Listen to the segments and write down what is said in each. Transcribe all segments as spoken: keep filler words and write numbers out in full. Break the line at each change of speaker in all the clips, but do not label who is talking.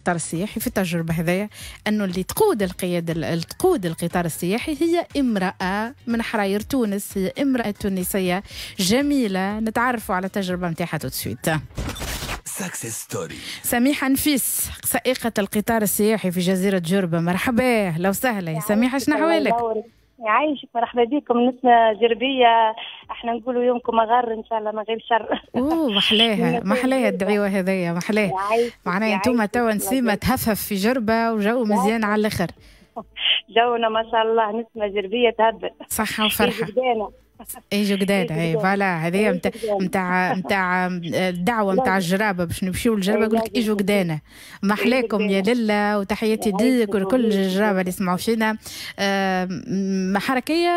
القطار السياحي في التجربة هذايا، انه اللي تقود القيادة اللي تقود القطار السياحي هي امراة من حراير تونس، هي امراة تونسية جميله. نتعرفوا على التجربة نتاعها tout de suite.
success story.
سميحة نفيس، سائقة القطار السياحي في جزيرة جربة، مرحبا، أهلا وسهلا يا سميحة، شنو أحوالك؟
يعيشك، مرحبا بكم. نسمة جربية، احنا نقولوا يومكم أغر ان شاء الله ما غير شر.
اوه، محلاها محلاها الدعوة هذيا، محلاها. معناها انتم توا نسيمة تهفهف في جربة وجو مزيان على الاخر.
جونا ما شاء الله، نسمة جربية تهبل.
صحة وفرحة. ايجو قدانا، اي voilà، هذه نتاع نتاع نتاع الدعوة نتاع الجرابه باش نمشيو للجربه، يقول لك ايجو قدانا. محلاكم يا لله، وتحياتي ليك ولكل الجرابه اللي يسمعوا فينا. حركية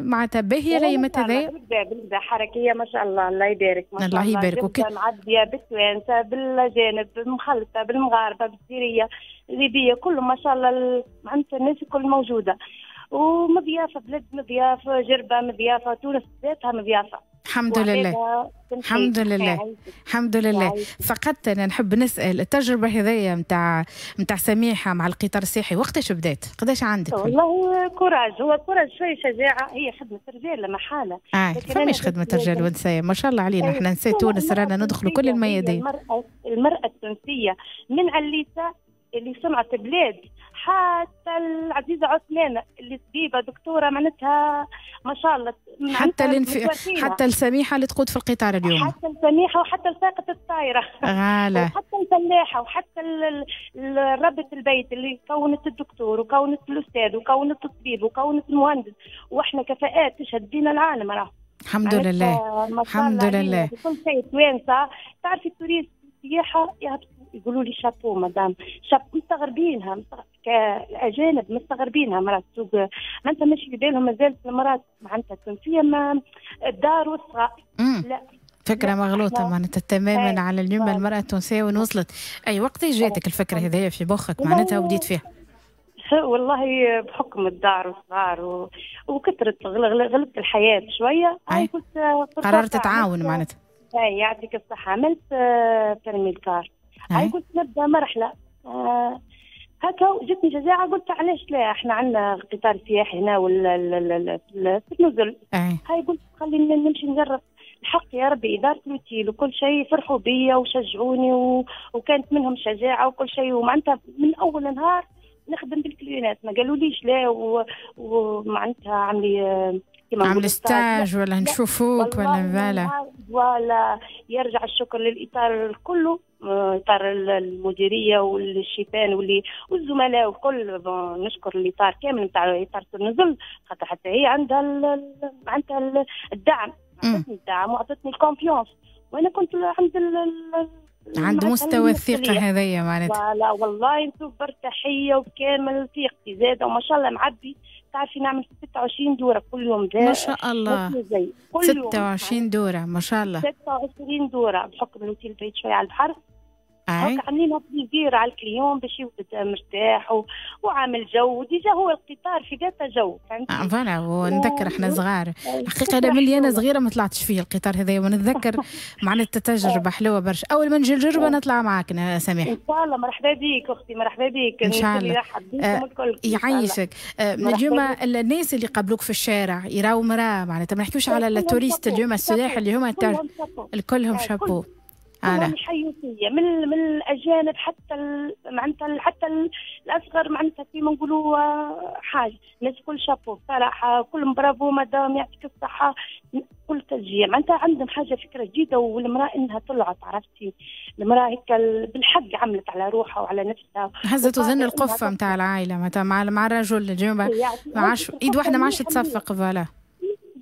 معناتها باهيه الايامات هذايا؟
بالكدا، حركية ما شاء الله، الله يبارك.
ما شاء الله يبارك.
وك... معدية بالتوانسه، بالاجانب، بالمخلطه، بالمغاربه، بالسيريه، الليبيه، كله ما شاء الله، معناتها الناس الكل موجوده ومضيافه، بلاد مضيافه، جربه مضيافه، تونس ذاتها مضيافه.
الحمد لله، الحمد لله، الحمد لله. فقط انا نحب نسال، التجربة هذيا نتاع نتاع سميحة مع القطار السياحي وقتاش بدات؟ قداش عندك؟
والله courage، هو courage شويه، شجاعه، هي خدمة رجال لا محاله.
اه، فماش خدمة رجال ونساء، ما شاء الله علينا، احنا نساء تونس رانا ندخلوا كل الميادين.
المرأة, المرأة التونسية من عليسه اللي صنعت بلاد حتى العزيزة عثمانه اللي طبيبه دكتوره، معناتها ما شاء الله.
حتى الانف... حتى السميحه اللي تقود في القطار اليوم.
حتى السميحه وحتى سائقه الطائره.
voilà.
وحتى الفلاحة وحتى ربة البيت اللي كونت الدكتور وكونت الاستاذ وكونت الطبيب وكونت المهندس، واحنا كفاءات تشهد بينا العالم راه.
الحمد لله، الحمد لله.
كل شيء توانسه. تعرفي ال touristes، السياحة يقولوا لي chapeau madame، chapeau، مستغربينها كالاجانب، مستغربينها مرات تسوق، معناتها ماشي في بالهم مازالت المراة معناتها التونسية ما الدار والصغار.
لا، فكرة مغلوطة معناتها تماما على اليوم المرأة التونسية وين وصلت. أي وقت جاتك الفكرة هذيا في مخك معناتها وبديت فيها؟
والله بحكم الدار والصغار و... وكثرة غلبت الحياة شوية.
أي كنت قررت تتعاون معناتها.
أي، يعطيك الصحة، عملت permis ال car، هاي قلت نبدا مرحلة آه هكا جتني شجاعة، قلت علاش لا، احنا عندنا قطار سياحي هنا ولا في النزل، هاي قلت خلينا نمشي نجرب. الحق يا ربي إدارة الأوتيل وكل شيء فرحوا بيا وشجعوني و... وكانت منهم شجاعة وكل شيء، ومعناتها من أول نهار نخدم بال client ات ما قالوليش لا و... ومعناتها عملي
عمل stage ولا نشوفوك ولا voilà.
ولا يرجع الشكر للإطار كله، اطار المديرية والشيفان واللي والزملاء والكل. نشكر الاطار كامل نتاع اطار النزل، خاطر حتى هي عندها ال عندها الدعم، عطتني الدعم وعطتني ال confiance، وانا كنت عند ال
عند مستوى الثقة هذيا معناتها.
لا والله نشوف برتاحية وبكامل ثقتي زادة، وما شاء الله معبي. تعرفي نعمل ستة وعشرين دورة كل يوم.
ما شاء الله،
كل
ستة وعشرين دورة، ما شاء الله.
ستة وعشرين دورة بحكم الاوتيل بعيد شوية على البحر. هكا عاملينها plaisir على ال client باش يبدا مرتاح و... وعامل جو، déjà هو القطار في ذاته جو.
فهمتي؟ آه voilà، ونذكر احنا صغار، الحقيقة انا ملي انا صغيرة ما طلعتش فيه القطار هذا، ونتذكر معناتها تجربه حلوة برشا. اول ما نجي الجربه نطلع معاك سميح.
ان شاء الله، مرحبا بك اختي، مرحبا بك.
ان شاء الله. آه يعيشك. آه اليوم الناس اللي قابلوك في الشارع يراو مراة، معناتها ما نحكيوش على ال touristes اليوم، السياح اللي هما الكلهم شابو.
انا يحيوا فيا من من الاجانب حتى معناتها حتى الاصغر، معناتها كيما نقولوا آه، حاجة الناس كل شابو بصراحه، كلهم bravo madame، يعطيك الصحه، كل تشجيع. معناتها عندهم حاجة فكرة جديدة والمراة انها طلعت، عرفتي، المراة هيك بالحق عملت على روحها وعلى نفسها.
هزت وزن القفه نتاع العائلة معناتها مع مع الرجل. اليوم ما عادش ايد واحدة ما عادش تصفق، voilà.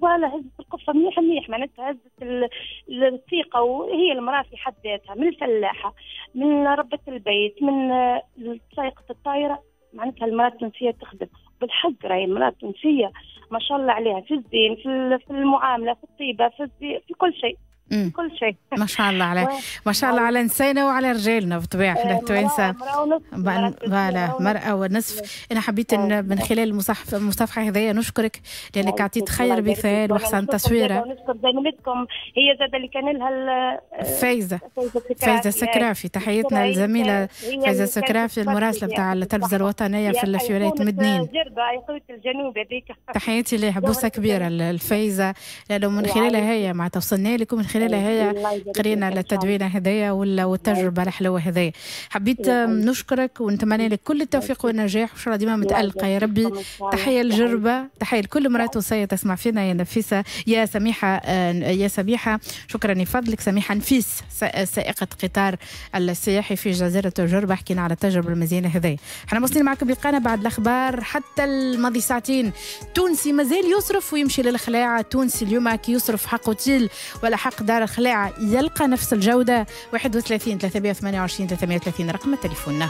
voilà، هزت القفه منيح منيح، معناتها هزت الثقه، وهي المراة في حد ذاتها من الفلاحه، من ربة البيت، من سائقه الطائره، معناتها المراة التونسية تخدم بالحق. راهي المراة التونسية ما شاء الله عليها في الزين، في في المعامله، في الطيبه، في في كل شيء. كل شيء.
ما شاء الله على ما شاء الله على نسانا وعلى رجالنا بالطبيعة، احنا التوانسة voilà مرأة ونصف. انا حبيت ان من خلال المصحف المصافحة هذايا نشكرك لانك عطيت خير مثال وحسن تصويره.
ونشكر زميلتكم هي زاد اللي كان لها
فايزه فايزه السكرافي، تحياتنا للزميله فايزه السكرافي المراسله نتاع التلفزة الوطنية في في ولاية مدنين.
الجنوب هذيك
تحياتي لها، بوسه كبيرة الفايزه، لانه من خلالها هي معناتها وصلنا لكم، من خلالها هي قرينا التدوينه هذايا والتجربة الحلوة هذايا. حبيت نشكرك ونتمنى لك كل التوفيق والنجاح، وان شاء الله ديما متالقه يا ربي. تحية للجربه، تحية لكل امراة تونسية تسمع فينا. يا نفيسة يا سميحة يا سميحة شكرا لفضلك. سميحة نفيس سائقه قطار السياحي في جزيرة الجربه، حكينا على التجربة المزيانه هذايا. احنا مواصلين معكم لقانا بعد الاخبار حتى الماضي ساعتين. تونسي مازال يصرف ويمشي للخلاعه، تونسي اليوم كي يصرف حق اوتيل ولا حق دار الخلاعه يلقى نفس الجودة. واحد وثلاثين ثلاثمية وثمانية وعشرين ثلاثمية وثلاثين رقم تليفوننا.